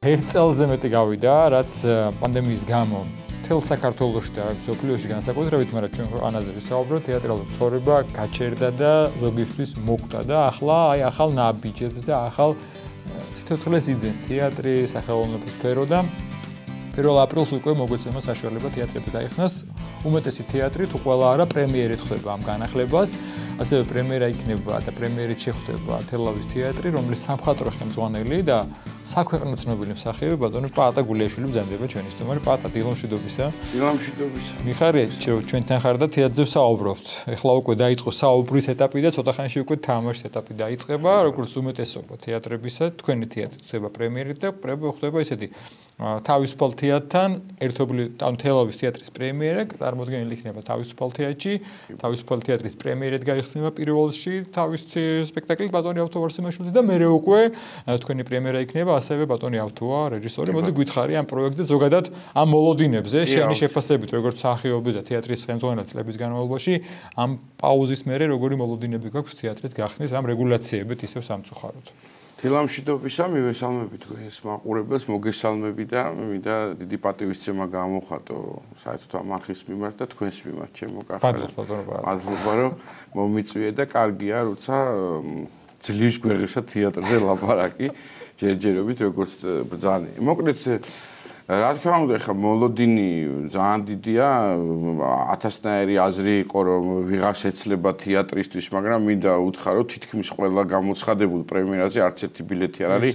ერთ წელზე მეტი გავიდა, რაც პანდემიის გამო მთელ საქართველოში და მსოფლიოში განსაკუთრებით, მაგრამ ჩვენ ქვეყანაზე ვისაუბროთ, თეატრალური ცხოვრება გაჩერდა და ზოგისთვის მოკვდა და ახლა ახალ ნაბიჯებს და ახალ სიცოცხლეს იძენს თეატრი, სახელმწიფო სფერო და 1 აპრილს უკვე მოგვეცემა საშუალება თეატრები დაიხსნას. უმეტესი თეატრი თუ ყველა არა პრემიერით ხდება ამ განახლებას. ასევე პრემიერა იქნება და პრემიერით შეხვდება თელავის თეატრი, რომლის სამხატვრო ხელმძღვანელი და საქვეყნო ცნობილი მსახიობი ბატონი პაატა გულიაშვილი ბრძანდება ჩვენი სტუმარი. პაატა, დილამშვიდობისა. დილამშვიდობისა. მიხარია, ჩვენთან ხარ და თეატრზე ვსაუბრობთ. ეხლა უკვე დაიწყო საუბრის ეტაპი და ცოტა ხანში უკვე თამაშის ეტაპი დაიწყება, როგორც უმეტესობა თეატრებისა. თქვენი თეატრი ხდება პრემიერით და ხდება ესეთი თავისუფალ თეატრთან ერთობლივ თელავის თეატრის პრემიერა წარმოდგენილი იქნება თავისუფალ თეატრში. თავისუფალ თეატრის პრემიერით გაიხსნება პირველში თავისი სპექტაკლი ბატონი ავთოვარსიმაშვილის და მერე უკვე თქვენი პრემიერა იქნება ასევე ბატონი ავთოა რეჟისორი. მოდი გითხარი ამ პროექტზე ზოგადად ამ მოლოდინებზე შენი შეფასებით როგორც მსახიობის და თეატრის ხელმძღვანელის წლების განმავლობაში ამ პაუზის მერე როგორი მოლოდინები გაქვს თეატრის გახსნის ამ რეგულაციებით ისევ სამწუხაროდ. დილამშვიდობისა, მივესალმები თქვენს მაყურებელს, მოგესალმები და მინდა დიდი პატივისცემა გამოვხატო საერთოდ ამ არხის მიმართ და თქვენს მიმართ, ჩემო კახალე. მადლობა, რომ მომიწვიე და კარგია, როცა ძლივს გვეღირსა თეატრზე ლაპარაკი, ჯერჯერობით როგორც ბრძანი. მოკლედ რა თქმა უნდა, ხა მოლოდინი ძალიან დიდია, ათასნაირი აზრი იყო, რომ ვიღას ეცლება თეატრისთვის, მაგრამ მინდა უთხრა, რომ თითქმის ყველა გამოცხადებულ პრემიერაზე არც ერთი ბილეთი არ არის,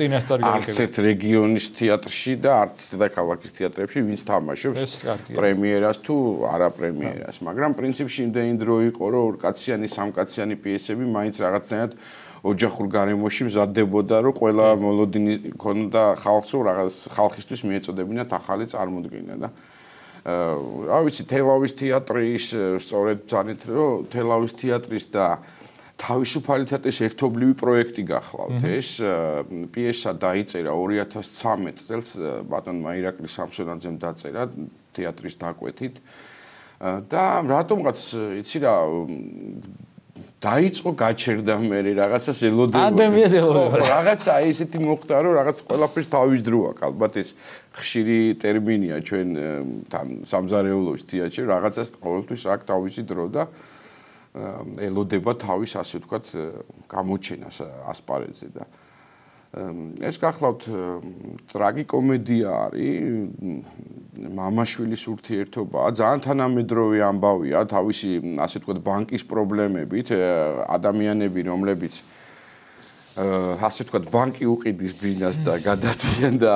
არც ერთ რეგიონის თეატრში და არც დედაქალაქის თეატრებში, ვინც თამაშობს პრემიერას თუ არა პრემიერას, მაგრამ პრინციპში იმდენი დრო იყო, რომ ორკაციანი, სამკაციანი პიესები მაინც რაღაცნაირად ოჯახურ გარემოში მზადდებოდა, რომ ყველა მოლოდინი ქონდა ხალხს, რომ რაღაც ხალხისთვის მიეწოდებინათ ახალი წარმოდგენა და რა ვიცი, თელავის თეატრის სწორედ ბრძანეთ, რომ თელავის თეატრის და თავისუფალი თეატრის ერთობლივი პროექტი გახლავთ. ეს პიესა დაიწერა 2013 წელს ბატონმა ირაკლი სამსონაძემ დაწერა თეატრის დაკვეთით და რატომღაც იცი რა დაიწყო გაჩერდა მე რაღაცას ელოდება. პანდემიას ელოდება. რაღაცა ისეთი მოხდა, რომ რაღაც ყველაფერს თავის დრო აქვს. ალბათ ეს ხშირი ტერმინია ჩვენ თან სამზარეულოში თეატრში, რაღაცას ყოველთვის აქვს თავისი დრო და ელოდება თავის, ასე ვთქვათ, გამოჩენას ასპარეზზე და ეს გახლავთ ტრაგიკომედია არის, მამაშვილის ურთიერთობაა, ძალიან თანამედროვე ამბავია, თავისი, ასე ვთქვათ, ბანკის პრობლემებით, ადამიანები, რომლებიც ასე ვთქვათ, ბანკი უყიდის ბინას და გადაციან და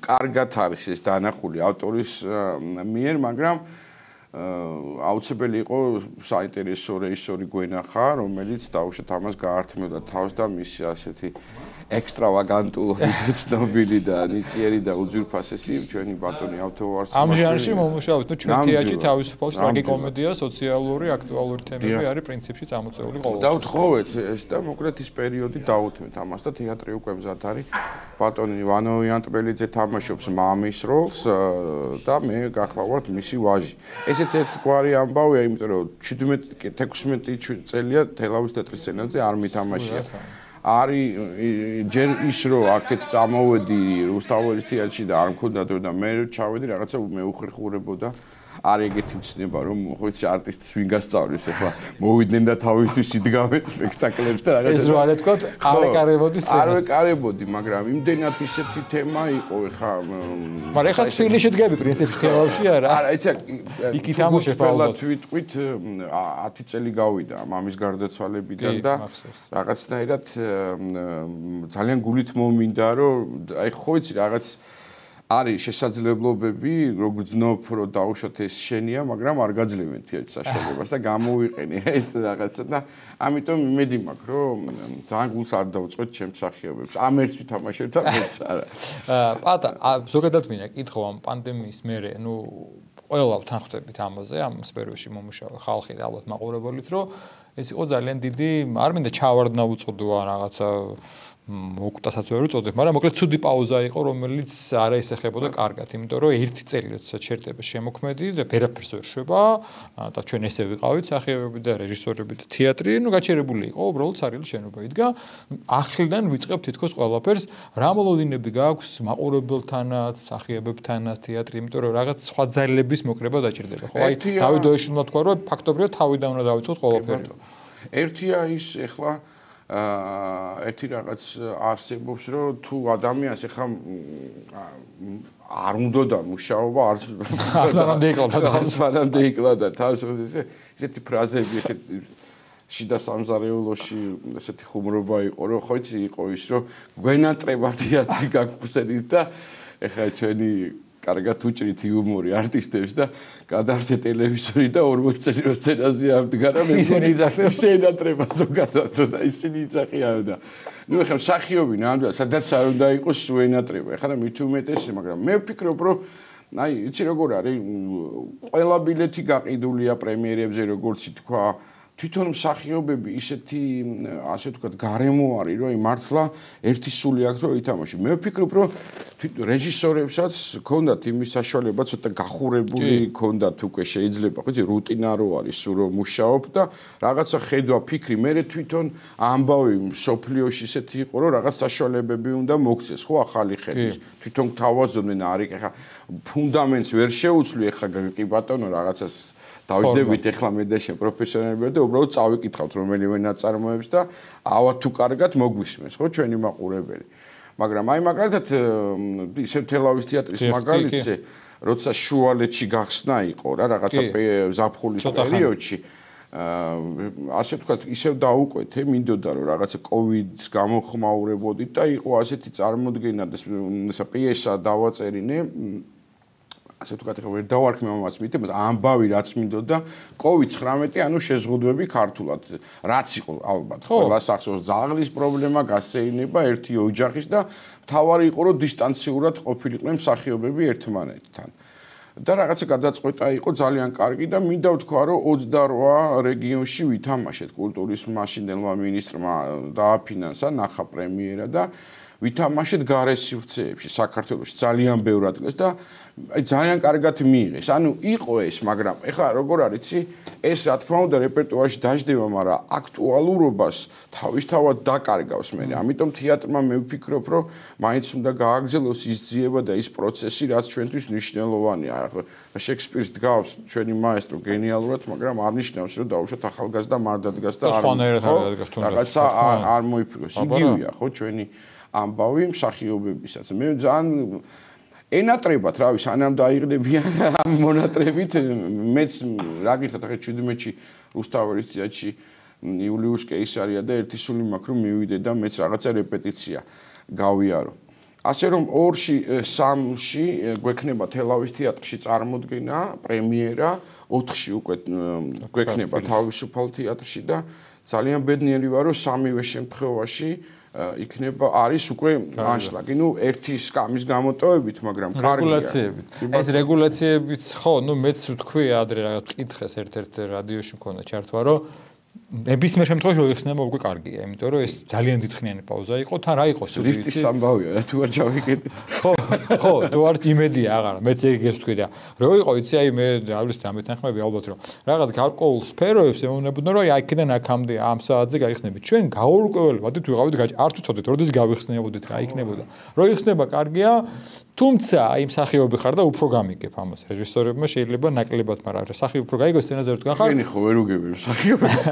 კარგად არის ეს დანახული ავტორის მიერ, მაგრამ აუცილებელი იყო საინტერესო რეჟისორი გვენახა, რომელიც დაუშვათ ამას გაართმევდა თავს და მისი ასეთი ექსტრავაგანტულობით ცნობილი და ნიჭიერი და უძვირფასესი ჩვენი ბატონი ავთოვარსიმაშვილი. ამ ჟანრში მომუშავეთ, ჩვენ თეატრში თავისუფალ ტრაგიკომედია, სოციალური, აქტუალური თემები არის პრინციპში წამოწეული ყოველთვის. დავთხოვეთ ეს და მოკლედ ის პერიოდი დავუთმეთ ამას და თეატრი უკვე მზად არის. ბატონი ვანო იანტბელიძე თამაშობს მამის როლს და მე გახლავართ მისი ვაჟი. ესეც ერთგვარი ამბავია, იმიტომ რომ 17-16 წელია თელავის თეატრის სცენაზე არ მითამაშია. არის ჯერ ის რომ აქეთ წამოვედი რუსთაველის თეატრში და არ მქონდა დრო და მე ჩავედი რაღაცა მე უხერხურებოდა არ ეგეთი ცნება რომ ხო იცი არტისტს ვინ გასწავლის ახლა მოვიდნენ და თავისთვის იდგამენ სპექტაკლებს და რაღაცა ეს რო არ ეთქოთ არ ეკარებოდი სცენას არ ეკარებოდი მაგრამ იმდენად ისეთი თემა იყო ახლა მაგრამ ახლა თბილისში დგები პრინციპში თელავში არა არა იცი იქ თამაშობ ალბათ ვიტყვით 10 წელი გავიდა მამის გარდაცვალებიდან და რაღაცნაირად ძალიან გულით მომინდა რომ აი ხო იცი რაღაც არის შესაძლებლობები, როგორც ვგრძნობ, რომ დაუშვათ ეს შენია, მაგრამ არ გაძლევენ თეატრის საშუალებას და გამოვიყენე ეს რაღაცა და ამიტომ იმედი მაქვს, რომ ძალიან გულს არ დავწყვეტ ჩემს მსახიობებს. ამ ერთს ვითამაშებ და მეც არა. პატა, ზოგადად მინდა კითხო ამ პანდემიის მერე, ყველა ვთანხმდებით ამაზე, ამ სფეროში მომუშავე ხალხი და ალბათ მაყურებელიც, რომ ეს იყო ძალიან დიდი, არ მინდა ჩავარდნა უწოდო ან რაღაცა მოკვდასაც ვერ უწოდებ, მაგრამ მოკლედ ცუდი პაუზა იყო, რომელიც არ აისახებოდა კარგად, იმიტომ რომ ერთი წელი როდესაც შერდება შემოქმედი და ვერაფერს ვერ შვება და ჩვენ ესე ვიყავით სახიობები და რეჟისორები და თეატრი, გაჩერებული იყო, უბრალოდ სარიელი შენობა იდგა. ახლიდან ვიწყებ თითქოს ყველაფერს, რა მოლოდინები გაქვს მაყურებელთანაც, სახიობებთანაც თეატრი, იმიტომ რომ რაღაც სხვა ძალების მოკრება დაჭირდება, ხო? აი დავით დოეშილმა თქვა, რომ ფაქტობრივად თავიდან უნდა დავიწყოთ ყველაფერი. ერთია ის ეხლა ერთი რაღაც არსებობს, რომ თუ ადამიანს ეხლა არ უნდა და მუშაობა არც ეკლადა თავს ესეთი ფრაზები შიდა სამზარეულოში ესეთი ხუმრობა იყო, რომ ხო იცი იყო ის, რომ გვენატრება თეატრი გაგხსენით და ეხლა ჩვენი კარგად უჭრით იუმორი არტისტებს და გადავშე ტელევიზორი და 40 წელი რო სცენაზე ავდგარა მე სცენატრება ზოგადად და ისინი იცახიან და ნუ ეხლა მსახიობი ნამდვილად სადაც არ უნდა იყოს სუენატრება ეხლა მით უმეტესი მაგრამ მე ვფიქრობ რომ აი იცი როგორ არის ყველა ბილეთი გაყიდულია პრემიერებზე როგორც თქვა თვითონ მსახიობები ისეთი ასე ვთქვათ გარემო არის რომ მართლა ერთი სული აქვს რომ ითამაშო მე ვფიქრობ რომ რეჟისორებსაც ჰქონდათ იმის საშუალება ცოტა გახურებული ჰქონდათ უკვე შეიძლება ხო იცი რუტინა რო არის სულ რომ მუშაობ და რაღაცა ხედვა ფიქრი მე თვითონ ამბავი სოფლიოში ისეთი იყო რომ რაღაც საშუალებები უნდა მოგცეს ხო ახალი ხედვის თვითონ თავაზობდნენ არის ეხა ფუნდამენტს ვერ შეუცვლი ეხა კი ბატონო რაღაცას დავიძდებით ეხლა მე და შენ პროფესიონალები და უბრალოდ წავიკითხავთ რომელიმე ნაწარმოებს და ავა თუ კარგად მოგვისმენს ხო ჩვენი მაყურებელი მაგრამ აი მაგალითად ისე თელავის თეატრის მაგალითზე როცა შუალედში გახსნა იყო რა რაღაცა ზაფხულის პერიოდში ასე ვთქვათ ისევ დაუკვეთე მინდოდა რომ რაღაცა კოვიდის გამო ხმაურებოდით და იყო ასეთი წარმოდგენა და ესა პიესა დავაწერინე ასე ვთქვათ ახლა ვერ დავარქმე მომაც მითი ამბავი რაც მინდოდა COVID-19 ანუ შეზღუდვები ქართულად რაც იყო ალბათ ყველა სახსოვს ზაღლის პრობლემა გასეირნება ერთი ოჯახის და თავარი იყო რომ დისტანციურად ყოფილიყვნენ მსახიობები ერთმანეთთან და რაღაცა გადაწყვეტა იყო ძალიან კარგი და მინდა ვთქვა რომ 28 რეგიონში ვითამაშეთ კულტურის მაშინდელმა მინისტრმა დააფინანსა ნახა პრემიერა და ვითამაშეთ გარესივრცეებში საქართველოში ძალიან ბევრ ადგილას და ძალიან კარგად მიიღეს. ანუ იყო ეს, მაგრამ ეხლა როგორ არის, ეს რა თქმა უნდა რეპერტუარში დაждდება, მაგრამ აქტუალურობას თავისთავად დაკარგავს მე. ამიტომ თეატრმა მე ვფიქრობ, რომ მაინც უნდა გააგრძელოს ის ძიება და ის პროცესი, რაც ჩვენთვის მნიშვნელოვანია. შექსპირს დგავს ჩვენი მაესტრო გენიალურად, მაგრამ არ ნიშნავს, რომ დაუშვათ ახალგაზრდა მარდადგას და რაღაცა არ მოიფიქროს. იგივეა, ხო, ჩვენი ამბავი მსახიობებისაც. მე ძალიან ენატრებათ, რა ვიცი, სანამ დაიღლებიან ამ მონატრებით, მეც რა გითხათ, ახლა 17-ში რუსთაველის თეატრში იულიუს კეისარია და ერთი სული მაქვს რომ მივიდე და მეც რაღაცა რეპეტიცია გავიარო. ასე რომ 2-ში 3-ში გვექნება თელავის თეატრში წარმოდგენა, პრემიერა, 4-ში უკვე გვექნება თავისუფალ თეატრში და ძალიან ბედნიერი ვარ რომ სამივე შემთხვევაში იქნება არის უკვე ანშლაგი. ნუ ერთი სკამის გამოტოვებით, მაგრამ კარგია. რეგულაციებით. ეს რეგულაციებიც ხო, ნუ მეც ვთქვი ადრე რაღაც კითხეს ერთ-ერთ რადიოში მქონდა ჩართვა, რომ ნებისმიერ შემთხვევაში რო იხსნება უკვე კარგია, იმიტომ რომ ეს ძალიან დიდხნიანი პაუზა იყო, თან რა იყო სულ ლიფტის ამბავია, რა თუ არ ჩავიკეთეთ. ხო, თუ არ იმედია აღარა, მეც ეგ ვთქვი და რო იყო იცი აი მე ავლის დამეთანხმები ალბათ რომ რაღაც გარკვეულ სფეროებს ემოვნებოდნენ რომ აი აქედან აქამდე ამ საათზე გაიხსნებით. ჩვენ გაურკვეველებადით ვიყავით არ თვითოდეთ, როდის გავიხსნებოდით რა იქნებოდა. რო იხსნება კარგია, თუმცა აი მსახიობი ხარ და უფრო გამიგებ ამას. რეჟისორებმა შეიძლება ნაკლებად, მაგრამ მსახიობი უფრო გაიგოს სცენაზე რო თქვენ ხარ. მე ხო ვერ უგები მსახიობს.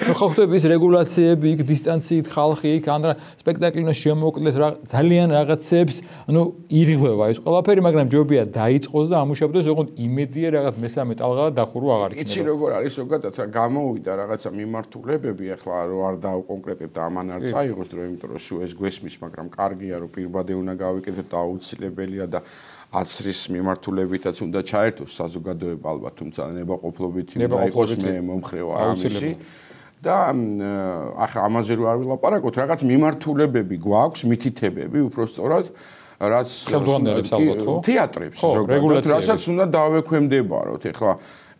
ნუ ხო ხდება ის რეგულაციები, იქ დისტანციით ხალხი, იქ ან სპექტაკლინო შემოკლეს რა ძალიან რაღაცებს, ანუ ირღვევა ეს ყველაფერი, მაგრამ ჯობია დაიწყოს და ამუშავდეს, ოღონდ იმედია რაღაც მესამე ტალღა დახურვა აღარ იქნება. იცი როგორ არის ზოგადად რა გამოვიდა რაღაცა მიმართულებები, ახლა რო არ დავკონკრეტებ და ამან არ წაიღოს დრო, იმიტომ რომ სულ ეს გვესმის, მაგრამ კარგია რომ პირბადე უნდა გავიკეთოთ და აუცილებელია და აცრის მიმართულებითაც უნდა ჩაერთოს საზოგადოება ალბათ, თუმცა ნებაყოფლობით უნდა იყოს მე მომხრევა ამისი. და ახლა ამაზე რო არ ვილაპარაკოთ, რაღაც მიმართულებები გვაქვს, მითითებები, უბრალოდ რაც ხელმძღვანელებს ალბათ ხო? თეატრებს ზოგადად, რასაც უნდა დავექვემდებაროთ. ეხლა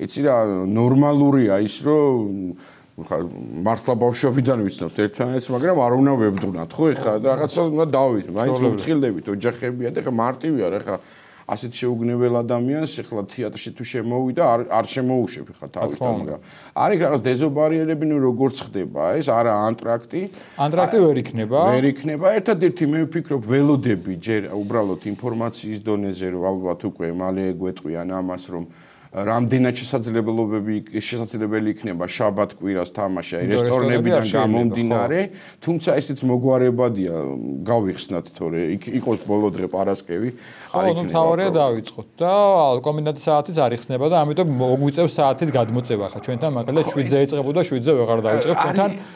იცი რა ნორმალურია ის, რომ მართლა ბავშვობიდან ვიცნობთ ერთმანეთს, მაგრამ არ უნდა ვებდღვნათ, ხო? ეხლა რაღაცა უნდა დავით, მაინც ვფრთხილდებით, ოჯახებია და ეხლა მარტივი არ ეხლა ასეთ შეუგნებელ ადამიანს ეხლა თეატრში თუ შემოვიდა არ შემოუშვებ ეხლა თავისთან, მაგრამ არის რაღაც დეზობარიერები, ნუ როგორც ხდება ეს, არა ანტრაქტი ვერ იქნება. ვერ იქნება. ერთადერთი მე ვფიქრობ ველოდები ჯერ უბრალოდ ინფორმაციის დონეზე რომ ალბათ უკვე მალე გვეტყვიან ამას რომ რამდენად შესაძლებელი იქნება შაბათ კვირას თამაში რესტორნებიდან გამომდინარე, თუმცა ესეც მოგვარებადია გავიხსნათ, თორე იყოს ბოლო დღე პარასკევი არ იქნება. ხო, თავარია დავიწყოთ და კომბინატის საათიც არ იხსნება და ამიტომ მოგვიწევს საათის გადმოწევა ხა ჩვენთან, მაგალითად 7-ზე იწყებოდა 7-ზე ვეღარ დავიწყებ,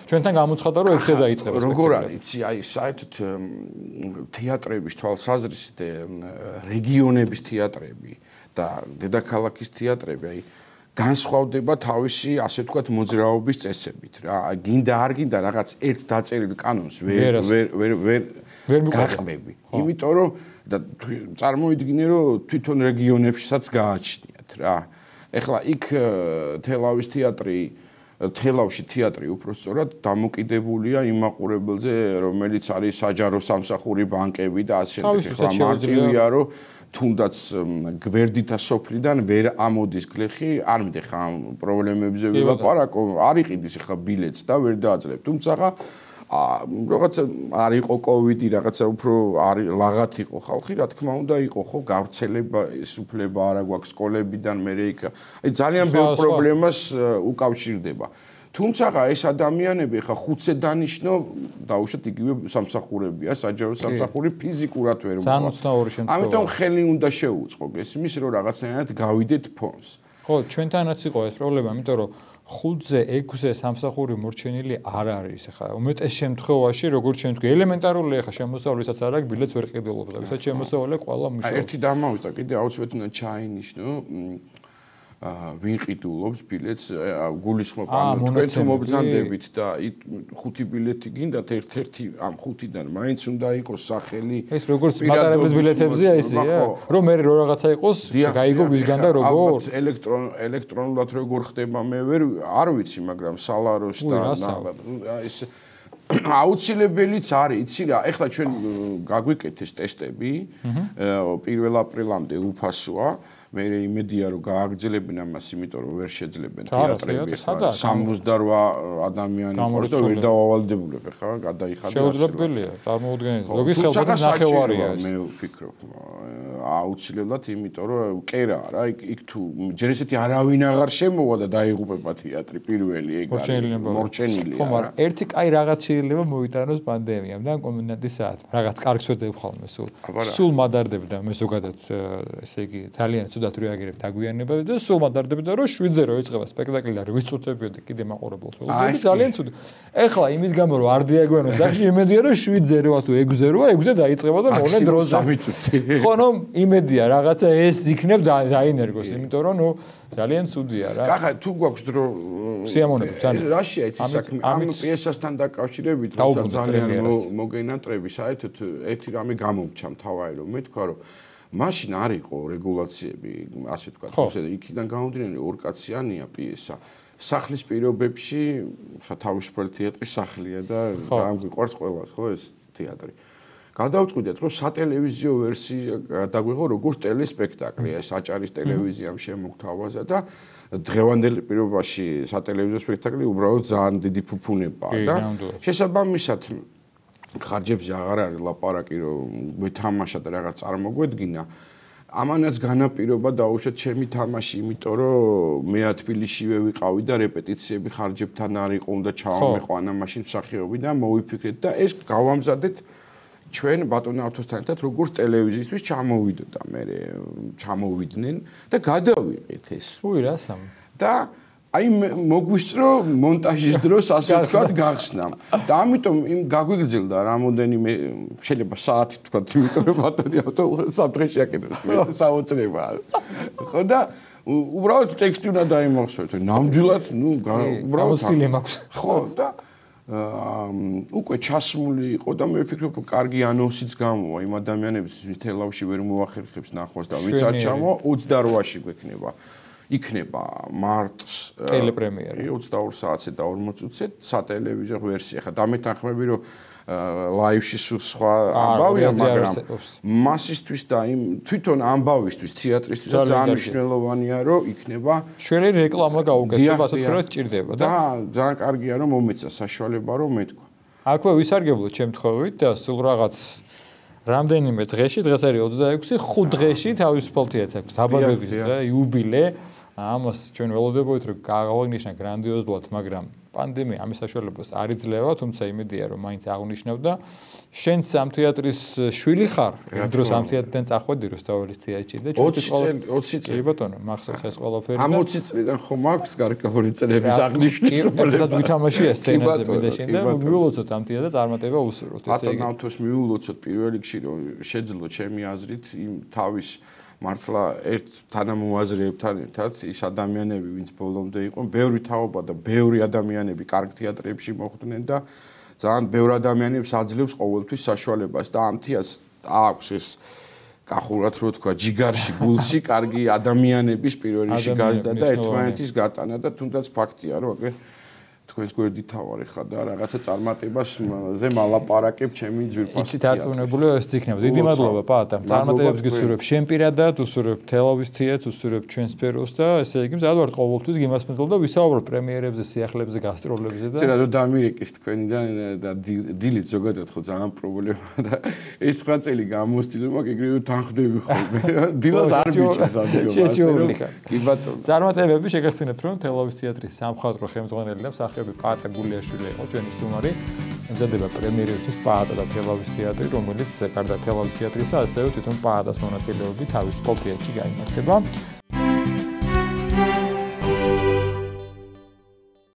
ჩვენთან გამოცხადა რომ 6-ზე დაიწყება. როგორ არის, იცი, აი საერთოდ თეატრების თვალსაზრისით რეგიონების თეატრები და დედაქალაქის თეატრები აი განსხვავდება თავისი ასე ვთქვათ მოძრაობის წესებით რა. გინდა არ გინდა რაღაც ერთ დაწერილ კანონს ვერ გაყბები. იმიტომ რომ და წარმოვიდგინე რომ თვითონ რეგიონებშიც გააჩნიათ რა. ეხლა იქ თელავში თეატრი უпростоრად დამოკიდებულია იმ მაყურებელზე, რომელიც არის საჯარო სამსახური ბანკები და ასე შემდეგ. ეხლა მარტივია რომ თუნდაც გვერდითა სოფლიდან ვერ ამოდის გლეხი, არ მიდე ხა პრობლემებზე ვილაპარაკო, არ იყიდის ხა ბილეთს და ვერ დააძლევ. თუმცა რაღაცა არ იყო კოვიდი, რაღაცა უფრო ლაღათ იყო ხალხი, რა თქმა უნდა იყო ხო, გავრცელება, სუფლება არა გვაქვს სკოლებიდან, მერე იქ. აი ძალიან ბევრ პრობლემას უკავშირდება. თუმცა ეს ადამიანები ხა 5-ზე დანიშნო, დაუშვათ იგივე სამსახურებია, საჯარო სამსახური ფიზიკურად ვერ მოხდა. ამიტომ ხელი უნდა შეუწყო გესმის, რომ რაღაცნაირად გავიდეთ ფონს. ხო, ჩვენთანაც იყო ეს პრობლემა, იმიტომ რომ 5-ზე 6-ზე სამსახური მორჩენილი არ არის ხა. უმეტეს შემთხვევაში, როგორც ჩვენ თქვი, ელემენტარული ხა შემოსავლესაც არ აქვს, ბილეთს ვერ ყიდულობს და ვისაც შემოსავლე ყველა მუშაობს. ერთი დამაუს და კიდე აუცილებლად უნდა ჩაინიშნო ვინ ყიდულობს ბილეთს, გულისხმობ ანუ თქვენ თუ მობრძანდებით და 5 ბილეთი გინდათ ერთ-ერთი ამ 5-დან მაინც უნდა იყოს სახელი. ეს როგორც მატარებლის ბილეთებზეა ისეა, რომ მე რო რაღაცა იყოს, გაიგო ვისგან და როგორ? ელექტრონულად როგორ ხდება მე არ ვიცი, მაგრამ სალაროს და ეს აუცილებელიც არის, იცი რა, ეხლა ჩვენ გაგვიკეთეს ტესტები, 1 აპრილამდე უფასოა. მე იმედია რომ გააგრძელებენ ამას, იმიტომ რომ ვერ შეძლებენ თეატრები ხა 68 ადამიანი ყავს და ვერ დავალდებულებ ხა გადაიხადა. შეუძლებელია, წარმოუდგენელი. ლოგის ხელფასის ნახევარია ეს. მე ვფიქრობ, აუცილებლად, იმიტომ რომ კერა რა, იქ თუ ჯერ ესეთი არავინ აღარ შემოვა და დაიღუპება თეატრი პირველი ეგ არის მორჩენილია. ხო, მაგრამ ერთი კაი რაღაც შეიძლება მოიტანოს პანდემიამ და კომბინატის საათი. რაღაც კარგს ვეძებ ხოლმე სულ მადარდებდა მე ზოგადად, ესე იგი ძალიან ცუდად რეაგირებ დაგვიანებაზე და სულ მადარდებდა რომ 7-ზე რო იწყება სპექტაკლი და ვის წუთებიოდი კიდე მაყურებელს. ძალიან ცუდი. ეხლა იმის გამო რომ არ დიაგვიანოს სახში იმედია რომ 7-ზე როა თუ 6-ზე როა 6-ზე დაიწყება და მოვლენ დროზე. ხო, ნუ იმედია რაღაცა ეს იქნებ დაინერგოს, იმიტომ რომ ნუ ძალიან ცუდია რა. კახა თუ გვაქვს დრო სიამონები ძალიან. რაშია იცი საქმე ამ პიესასთან დაკავშირებით როცა ძალიან მოგენატრები საერთოდ ერთი რამე გამომჩა მთავარი რომ მე თქვა რომ მაშინ არ იყო რეგულაციები, ასე ვთქვათ, ხოსე იქიდან გამომდინარე ორკაციანია პიესა. სახლის პირობებში ხა თავისუფალი თეატრის სახლია და ძალიან გვიყვარს ყველას, ხო ეს თეატრი. გადავწყვიტეთ, რომ სატელევიზიო ვერსია დაგვიღო როგორც ტელესპექტაკლი, ეს აჭარის ტელევიზიამ შემოგთავაზა და დღევანდელ პირობაში სატელევიზიო სპექტაკლი უბრალოდ ძალიან დიდი ფუფუნებაა და შესაბამისად ხარჯებზე აღარ არის ლაპარაკი რომ გვეთამაშა და რაღაც წარმოგვედგინა. ამანაც განაპირობა დაუშვათ ჩემი თამაში, იმიტომ რომ მე თბილისშივე ვიყავი და რეპეტიციები ხარჯებთან არ იყო, უნდა ჩავამეყვანა მაშინ მსახიობი და მოვიფიქრეთ და ეს გავამზადეთ ჩვენ ბატონო ავთოსთან ერთად როგორც ტელევიზიისთვის ჩამოვიდოდა მე ჩამოვიდნენ და გადავიყეთ ეს. უი რა სამ. და აი მოგვისწრო მონტაჟის დროს ასე ვთქვათ გახსნამ და ამიტომ იმ გაგვიგრძელდა რამოდენიმე შეიძლება საათი ვთქვათ, იმიტომ რომ ბატონი ავთო საფრთხეში აკეთებს საოცრება. ხო და უბრალოდ ტექსტი უნდა დაიმახსოვროთ. ნამდვილად ნუ უბრალოდ სტილი მაქვს. ხო და უკვე ჩასმული იყო და მე ვფიქრობ კარგი ანონსიც გამოვა იმ ადამიანებისთვის, ვის თელავში ვერ მოახერხებს ნახვას და ვინც არ ჩამოვა 28-ში გვექნება იქნება მარტს ტელეპრემიერა 22 საათზე და 40 წუთზე სატელევიზიო ვერსია. ხა დამეთანხმები რომ ლაივში სხვა ამბავია, მაგრამ მასისთვის და იმ თვითონ ამბავისთვის, თეატრისთვის ძალიან მნიშვნელოვანია, რომ იქნება შველი რეკლამა გაუკეთება, ასე ვთქვათ, ჭირდება და ძალიან კარგია რომ მომეცა საშუალება რომ მეთქვა. აქვე ვისარგებლოთ შემთხვევით და სულ რაღაც რამდენიმე დღეში, დღეს არის 26, 5 დღეში თავისუფალ თეატრს აქვს დაბადების დღე, იუბილე. ამას ჩვენ ველოდებოდით რომ გავაღნიშნა გრანდიოზულად, მაგრამ პანდემია ამის საშუალებას არ იძლევა, თუმცა იმედია რომ მაინც აღნიშნავდა. შენც ამ თეატრის შვილი ხარ, იმ დროს ამ თეატრიდან წახვედი რუსთაველის თეატრში და 20 წელი ბატონო, მახსოვს ეს ყველაფერი. ამ 20 წლიდან ხომ აქვს გარკვეული წლების აღნიშვნის უფლება. და ვითამაშია სცენაზე მე და შენ და მიულოცოთ ამ თეატრს წარმატება უსურვოთ, ესე იგი. ბატონავთოს მიულოცოთ პირველ რიგში რომ შეძლო ჩემი აზრით იმ თავის მართლა ერთ თანამოაზრეებთან ერთად ის ადამიანები, ვინც ბოლომდე იყო, ბევრი თაობა და ბევრი ადამიანები კარგ თეატრებში მოხვდნენ და ძალიან ბევრი ადამიანებს აძლევს ყოველთვის საშუალებას და ამ თეატრს აქვს ეს კახურად რო თქვა, ჯიგარში, გულში კარგი ადამიანების პირველ რიგში გაზრდა და ერთმანეთის გატანა და თუნდაც ფაქტია, რომ აგერ თქვენს გვერდით თავარი ხარ და რაღაცა წარმატებაზე მალაპარაკებ ჩემი ძვირფასი. იცით არწმუნებული ეს იქნება. დიდი მადლობა პაატა. წარმატებებს გისურვებ შენ პირადად, უსურვებ თელავის თეატრს, უსურვებ ჩვენ სფეროს და ესე იგი მზად ვარ ყოველთვის გიმასპინძლობ და ვისაუბრებ პრემიერებზე, სიახლეებზე, გასტროლებზე და წერა რომ დამირეკეს თქვენიდან და დილით ზოგადად ხო ძალიან პრობლემაა და ეს 9 წელი გამოსtildeმა ეგრევე თანხდები ხოლმე. დილას არ მიჩნევს ადგილას. კი ბატონო. წარმატებები შეგახსენებთ რომ თელავის თეატრის სამხატვრო ხელმძღვანელი და პაატა გულიაშვილი იყო ჩვენი სტუმარი. ემზადება პრემიერისთვის პაატა და თელავის თეატრი, რომელიც გარდა თელავის თეატრისა, ასევე თვითონ პაატას მონაწილეობით თავისუფალ თეატრში გაიმართება.